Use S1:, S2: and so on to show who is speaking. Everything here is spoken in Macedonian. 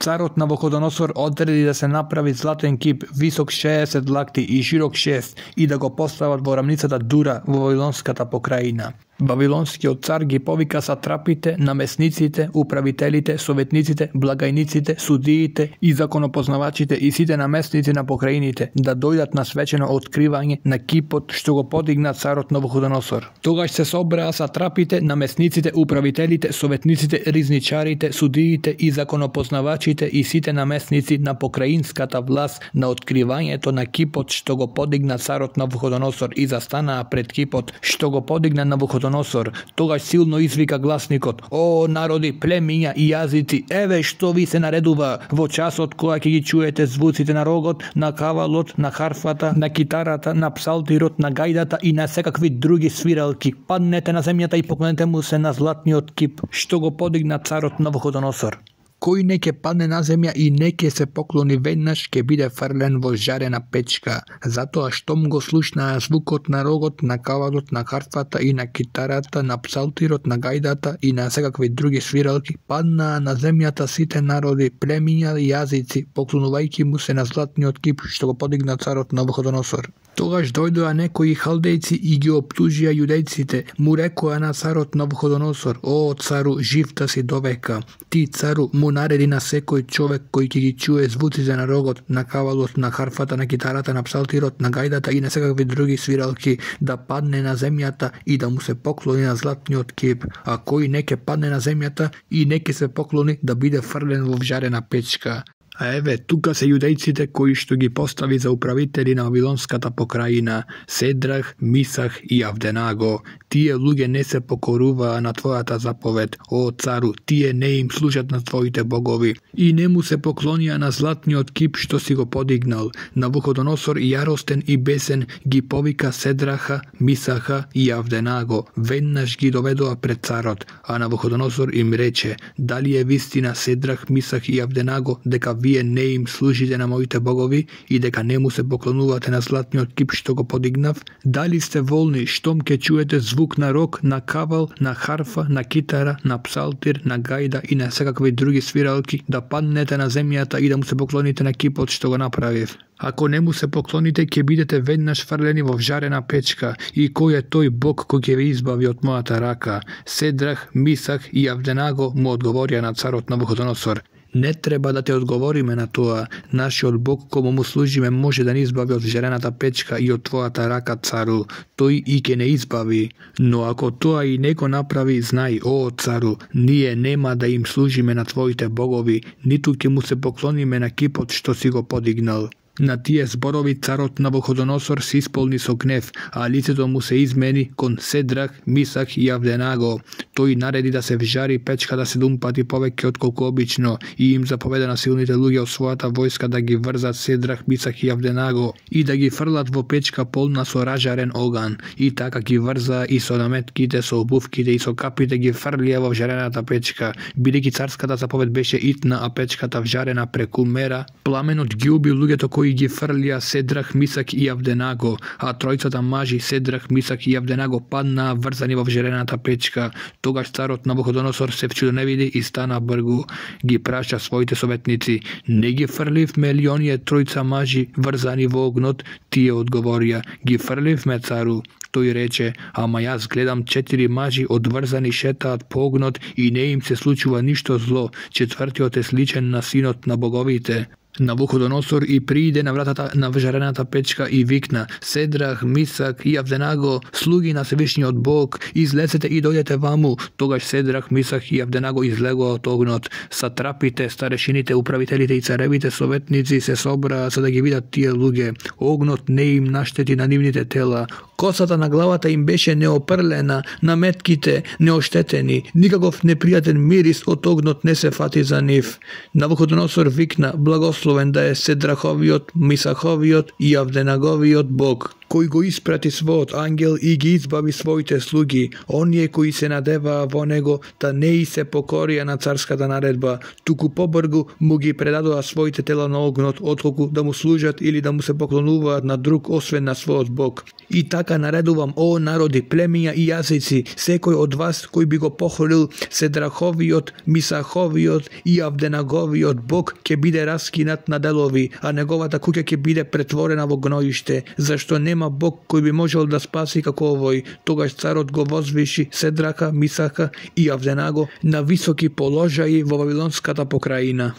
S1: Царот Навуходоносор одреди да се направи златен кип висок 60 лакти и широк 6 и да го постават во рамницата Дура во Вавилонската покрајина. Вавилонскиот цар ги повика сатрапите, намесниците, управителите, советниците, благајниците, судиите и законопознавачите и сите намесници на покрајините да дојдат на свечено откривање на кипот што го подигна царот Навуходоносор. Тогаш се собраа сатрапите, намесниците, управителите, советниците, ризничарите, судиите и законопознавачите и сите намесници на покраинската власт на откривањето на кипот што го подигна царот Навуходоносор и застанаа пред кипот што го подигна Навуходоносор. Тогаш силно извика гласникот: "О, народи, племиња и јазици, еве што ви се наредува во часот кога ќе ги чуете звуците на рогот, на кавалот, на харфата, на китарата, на псалтирот, на гајдата и на секакви други свиралки. Паднете на земјата и поклонете му се на златниот кип што го подигна царот Навуходоносор. Кој не ќе падне на земја и не ќе се поклони веднаш, ќе биде фрлен во жарена печка. Затоа штом го слушнаа звукот на рогот, на кавалот, на харфата и на китарата, на псалтирот, на гајдата и на секакви други свиралки, паднаа на земјата сите народи, племиња и јазици, поклонувајќи му се на златниот кип што го подигна царот Навуходоносор. Тогаш дојдоа некои халдејци и ги оптужија јудејците, му рекоа на царот Навуходоносор: "О, цару, жив да си довека. Ти, цару, му нареди на секој човек кој ќе ги чуе звуците на рогот, на кавалот, на харфата, на китарата, на псалтирот, на гајдата и на секакви други свиралки, да падне на земјата и да му се поклони на златниот кип, а кој не ќе падне на земјата и не ќе се поклони, да биде фрлен во вжарена печка." А еве, тука се јудејците кои што ги постави за управители на Вавилонската покрајина: Седрах, Мисах и Авденаго. Тие луѓе не се покоруваа на твојата заповед, о цару, тие не им служат на твоите богови и не му се поклонија на златниот кип што си го подигнал. Навуходоносор јаростен и бесен ги повика Седраха, Мисаха и Авденаго, веднаш ги доведоа пред царот, а Навуходоносор им рече: "Дали е вистина, Седрах, Мисах и Авденаго, дека вие не им служите на моите богови и дека не му се поклонувате на златниот кип што го подигнав? Дали сте волни штом ќе чуете звук на рог, на кавал, на харфа, на китара, на псалтир, на гајда и на секакви други свиралки, да паднете на земјата и да му се поклоните на кипот што го направив? Ако не му се поклоните, ќе бидете веднаш фрлени во вжарена печка. И кој е тој Бог кој ќе ви избави од мојата рака?" Седрах, Мисах и Авденаго му одговорија на царот Навуходоносор: "Не треба да те одговориме на тоа. Нашиот Бог кому му служиме може да ни избави од жарената печка и од твојата рака, цару. Тој и ќе не избави. Но ако тоа и не го направи, знај, о цару, ние нема да им служиме на твоите богови, ниту ќе му се поклониме на кипот што си го подигнал." На тие зборови царот Навуходоносор се исполни со гнев, а лицето му се измени кон Седрах, Мисах и Авденаго. Тој нареди да се вжари печката 7 пати повеќе од колку обично и им заповеда на силните луѓе од својата војска да ги врзат Седрах, Мисах и Авденаго и да ги фрлат во печка полна со ражарен оган. И така ги врзаа и со наметките, со обувките и со капите ги фрлија во вжарената печка. Бидејќи царската заповед беше итна, а печката вжарена преку мера, пламенот ги уби луѓето кои ги фрлија Седрах, Мисак и Авденаго, а тројцата мажи Седрах, Мисак и Авденаго паднаа врзани во вжарената печка. Тогаш царот Навуходоносор се вчудоневиди и стана бргу. Ги праша своите советници: "Не ги фрливме ли оние тројца мажи врзани во огнот?" Тие одговорија: "Ги фрливме, цару." Тој рече: "Ама јас гледам 4 мажи одврзани шетаат по огнот и не им се случува ништо зло. Четвртиот е сличен на синот на боговите." Навуходоносор и прииде на вратата на вжарената печка и викна: "Седрах, Мисак и Авденаго, слуги на Севишниот Бог, излезете и дојдете ваму." Тогаш Седрах, Мисак и Авденаго излегоа од огнот. Сатрапите, старешините, управителите и царевите советници се собраа за да ги видат тие луѓе. Огнот не им наштети на нивните тела. Косата на главата им беше неопрлена, наметките неоштетени, никаков непријатен мирис од огнот не се фати за нив. Навуходоносор викна: "Благословен да е Седраховиот, Мисаховиот и Авденаговиот Бог, кој го испрати својот ангел и ги избави своите слуги, оние кои се надеваа во него, да не и се покорија на царската наредба, туку побргу му ги предадоа своите тела на огнот, отколку да му служат или да му се поклонуваат на друг освен на својот Бог. И така наредувам, о народи, племиња и јазици, секој од вас кој би го похулил Седраховиот, Мисаховиот и Авденаговиот Бог ќе биде раскинат на делови, а неговата куќа ќе биде претворена во гноиште, зашто нема Бог кој би можел да спаси како овој. Тогаш царот го возвиши Седрака, Мисака и Авденаго на високи положаи во Вавилонската покраина.